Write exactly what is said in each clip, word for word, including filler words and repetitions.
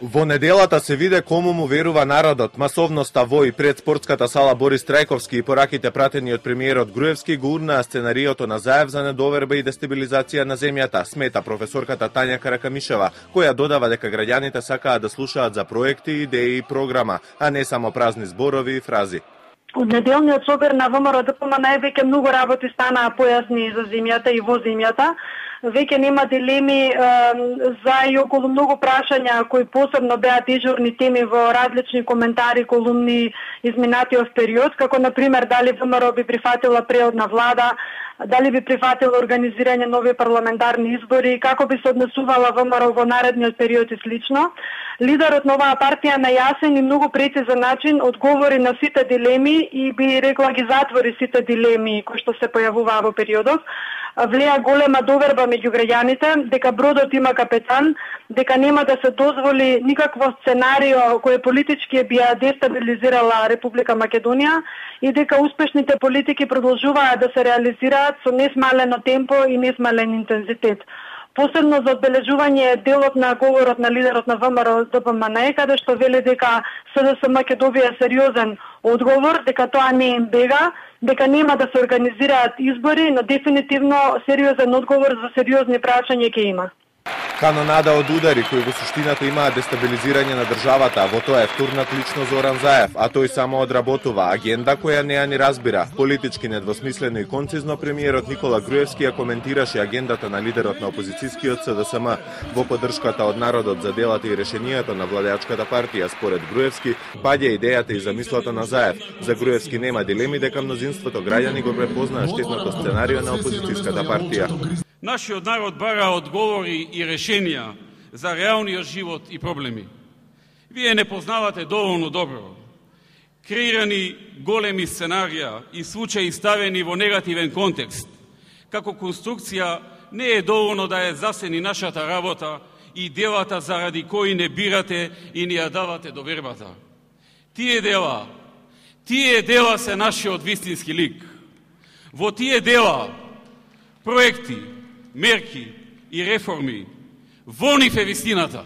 Во неделата се виде кому му верува народот. Масовноста во и пред спортската сала Борис Трајковски и пораките пратени од премиерот Груевски го урнаа сценариото на Заев за недоверба и дестабилизација на земјата, смета професорката Тања Каракамишева, која додава дека граѓаните сакаат да слушаат за проекти, идеи и програма, а не само празни зборови и фрази. Од неделниот собир на ВМРО Д П М Н веќе многу работи станаа појасни за земјата и во земјата. Веќе нема дилеми е, за и околу многу прашања кои посебно беа дежурни теми во различни коментари, колумни изминатиот период, како на пример дали ВМРО би прифатила преодна влада, дали би прифатила организирање нови парламентарни избори, како би се однесувала ВМРО во наредниот период и слично. Лидерот на оваа партија на јасен и многу прецизен начин одговори на сите дилеми и би рекла ги затвори сите дилеми кои што се појавуваа во периодот. Влеа голема доверба меѓу граѓаните дека бродот има капетан, дека нема да се дозволи никакво сценарио кое политички би ја дестабилизирала Република Македонија и дека успешните политики продолжуваат да се реализираат со несмалено темпо и несмален интензитет. Посебно за одбележување е делот на говорот на лидерот на ВМРО Д П М Н, каде што вели дека С Д С М ќе добие сериозен одговор, дека тоа не им бега, дека нема да се организираат избори, но дефинитивно сериозен одговор за сериозни прашања ќе има. Канонада од удари кои во суштината имаат дестабилизирање на државата, во тоа е втурнат лично Зоран Заев, а тој само одработува агенда која не ја ни разбира. Политички недвосмислено и концизно премиерот Никола Груевски ја коментираше агендата на лидерот на опозицијскиот С Д С М. Во поддршката од народот за делата и решенијата на владеачката партија, според Груевски, паѓа идејата и замислата на Заев. За Груевски нема дилеми дека мнозинството граѓани го препознаа штетното сценарио на опозицијската партија. Нашиот народ бара одговори и решенија за реалниот живот и проблеми. Вие не познавате доволно добро креирани големи сценарија и случаи ставени во негативен контекст. Како конструкција не е доволно да е засени нашата работа и делата заради кои не бирате и не ја давате довербата. Тие дела, тие дела се нашиот вистински лик. Во тие дела, проекти, мерки и реформи, во нив е вистината.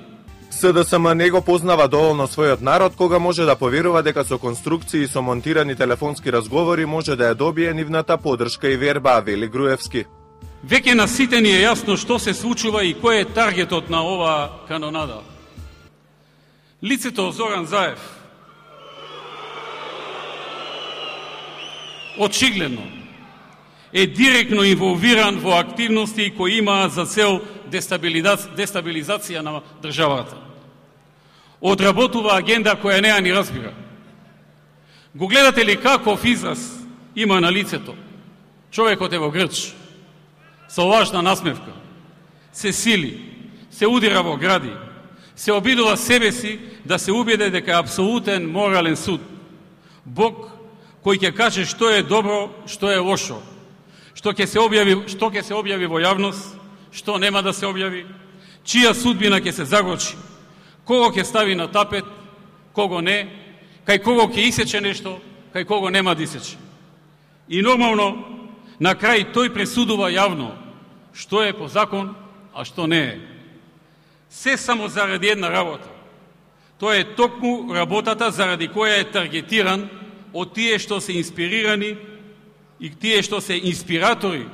С Д С М не го познава доволно својот народ кога може да поверува дека со конструкции и со монтирани телефонски разговори може да ја добие нивната поддршка и верба, вели Груевски. Веќе на сите ни е јасно што се случува и кој е таргетот на оваа канонада. Лицето Зоран Заев очигледно е директно инволвиран во активности кои имаат за цел дестабилизација на државата. Одработува агенда која не ја ни разбира. Го гледате ли каков израз има на лицето? Човекот е во грч, со лажна насмевка, се сили, се удира во гради, се обидува себе си да се убеде дека е апсолутен морален суд. Бог кој ќе каже што е добро, што е лошо, што ќе се објави, што ќе се објави во јавност, што нема да се објави, чија судбина ќе се загорчи, кого ќе стави на тапет, кого не, кај кого ќе исече нешто, кај кого нема да исече. И нормално, на крај тој пресудува јавно што е по закон, а што не е. Се само заради една работа. Тоа е токму работата заради која е таргетиран од тие што се инспирирани и тие што се инспиратори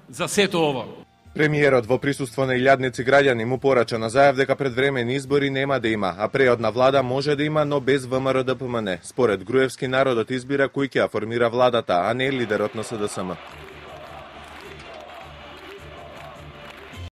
за сето ова. Премиерот во присуство на илјадници граѓани му порача на Заев дека предвремени избори нема да има, а преодна влада може да има, но без ВМРО Д П М Н. Според Груевски, народот избира кој ќе ја формира владата, а не лидерот на С Д С М.